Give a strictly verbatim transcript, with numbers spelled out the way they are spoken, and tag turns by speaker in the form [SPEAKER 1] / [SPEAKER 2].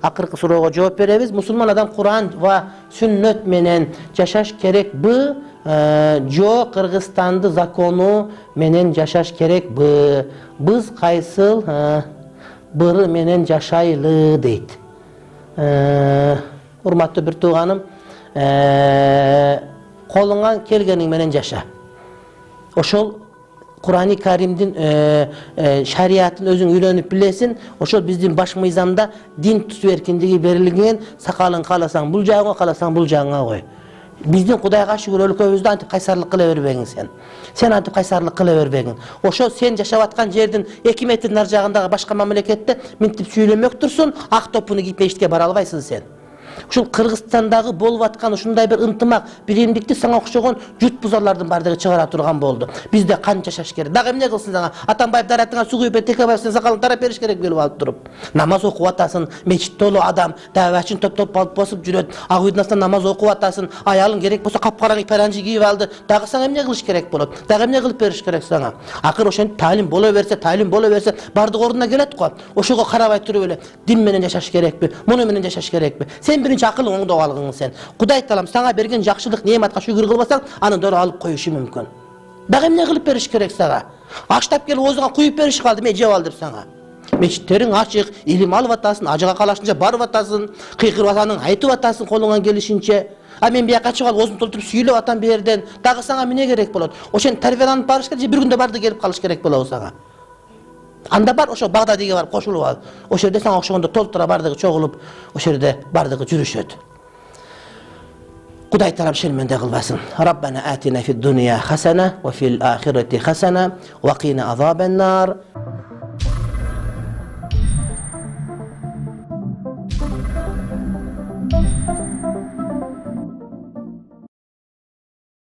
[SPEAKER 1] Акыркы суроого жооп беребиз. Мусулман адам Куран ва сүннөт менен жашаш керекби? Жо Кыргызстанды закону менен жашаш керекби? Биз кайсыл быры менен жашайлы дейт. Урматтуу бир тууганым, колуңан келгениң менен жаша. Ошол Kur'an-ı Karim'din e, e, şariatın özün öğrenip bilesin. Oşol bizim baş mıyzamda din tutu erkinliği verilgen sakalın kalasan bul jağına kalasan bul jağına koy. Bizdin Kudayga şükür өлкөбүздө антип кайсарлык кыла бербегиң sen. Sen антип кайсарлык кыла бербегиң. Ошо sen жашап аткан жердин эки метрдин ар жагындагы башка мамлекетте минтип сүйлөмөк турсун, ак топуну кийип мешитке бара албайсың sen. Ушул Кыргызстандагы болуп аткан ушундай бир ынтымак, биримдикти сага окшогон жут бузарлардын бардыгы чыгара турган болду. Бизде канча жашаш керек. Дагы эмне кылсын сага? Атамбаев даратыңа суу күйүп, Текебаев сен сакалын тарап бериш керек келип алып туруп. Намаз окуп атасың, мечит толу адам, давачын топ-топ алып басып жүрөт. Ак үйдүн астынан намаз окуп атасың, аялың керек болсо капкараң паранжы кийип алды. Дагы сага эмне кылыш керек болот? Дагы эмне кылып бериш керек сага? Акыр ошентип талим боло берсе, талим боло берсе, бардык ордуна келет го. Ошого карабай туруп эле дин менен жашаш керекпи? Муну менен жашаш керекпи? Сен биринчи акылың оңдоп алгың sen. Кудай Таалам сага берген жакшылык неmatка шүгүр кылбасаң, аны дөрө алып коюшу мүмкүн. Дагы эмне кылып бериш керек сага? Аштап келип оозуңа куюп бериш калды, мен жеп ал деп сага. Мечиттериң ачык, илим алып атасың, ажыга калашынча барып атасың, кыйкырып атасың, айтып атасың колуңан келишинче. А мен бияка чыгып алып оозумду толтуруп сүйлөп атам бу жерден. Дагы сага эмне керек болот? Ошентип тарбияланып барыш керек, бир күндө барды келип калыш керек болобу сага? Анда бар ошо Багдадиге барып кошулуп ал. Ошол жерде сага окшогондо толтура бардыгы чогулуп, ошол жерде бардыгы жүрүшөт. Кудай Таалам шерменде кылбасын. Раббана атина фид дуния хасана ва фил ахирати хасана ва кина азабан нар.